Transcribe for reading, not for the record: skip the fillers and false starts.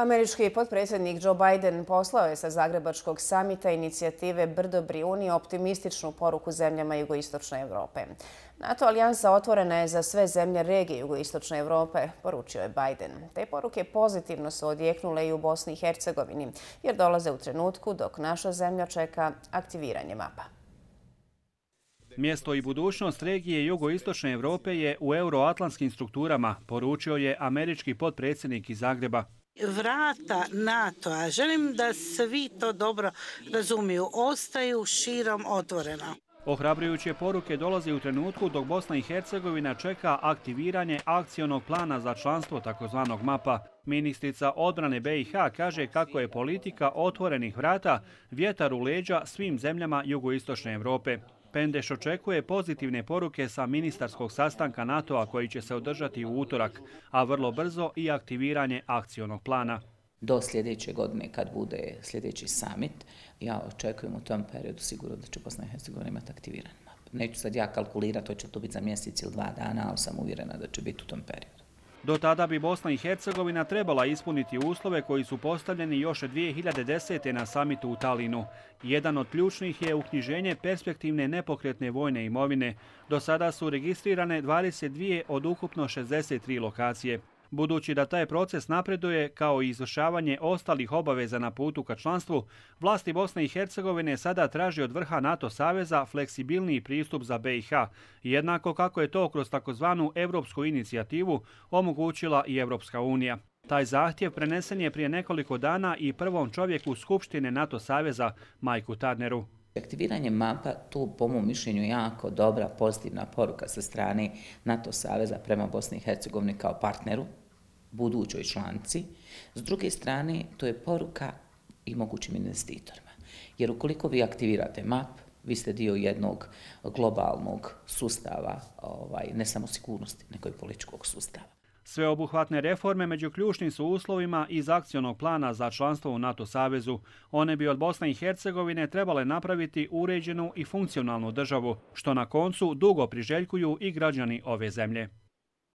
Američki potpredsjednik Joe Biden poslao je sa Zagrebačkog samita inicijative Brdo Brijuni optimističnu poruku zemljama jugoistočne Europe. NATO alijansa otvorena je za sve zemlje regije jugoistočne Europe, poručio je Biden. Te poruke pozitivno su odjeknule i u Bosni i Hercegovini, jer dolaze u trenutku dok naša zemlja čeka aktiviranje mapa. Mjesto i budućnost regije jugoistočne Europe je u euroatlantskim strukturama, poručio je američki potpredsjednik iz Zagreba. Vrata NATO-a, želim da svi to dobro razumiju, ostaju širom otvorena. Ohrabrujuće poruke dolaze u trenutku dok Bosna i Hercegovina čeka aktiviranje akcionog plana za članstvo tzv. MAPA. Ministrica odbrane BiH kaže kako je politika otvorenih vrata vjetar u leđa svim zemljama jugoistočne Europe. Pendeš očekuje pozitivne poruke sa ministarskog sastanka NATO-a koji će se održati u utorak, a vrlo brzo i aktiviranje akcionog plana. Do sljedeće godine, kad bude sljedeći summit, ja očekujem u tom periodu sigurno da će Bosna i Hercegovina imati aktiviran map. Neću sad ja kalkulirati, hoće to biti za mjesec ili 2 dana, ali sam uvjerena da će biti u tom periodu. Do tada bi Bosna i Hercegovina trebala ispuniti uslove koji su postavljeni još 2010. na samitu u Talinu. Jedan od ključnih je uknjiženje perspektivne nepokretne vojne imovine. Do sada su registrirane 22 od ukupno 63 lokacije. Budući da taj proces napreduje kao i izvršavanje ostalih obaveza na putu ka članstvu, vlasti Bosne i Hercegovine sada traži od vrha NATO saveza fleksibilniji pristup za BiH, jednako kako je to kroz takozvanu europsku inicijativu omogućila i Europska unija. Taj zahtjev prenesen je prije nekoliko dana i prvom čovjeku Skupštine NATO saveza, Mike'u Turneru. Aktiviranje mapa, tu po mom mišljenju jako dobra, pozitivna poruka sa strane NATO saveza prema Bosni i Hercegovini kao partneru, budućoj članici. S druge strane, to je poruka i mogućim investitorima. Jer ukoliko vi aktivirate map, vi ste dio jednog globalnog sustava, ne samo sigurnosti, nego i političkog sustava. Sveobuhvatne reforme među ključnim su uslovima iz akcionog plana za članstvo u NATO savezu. One bi od Bosne i Hercegovine trebale napraviti uređenu i funkcionalnu državu, što na koncu dugo priželjkuju i građani ove zemlje.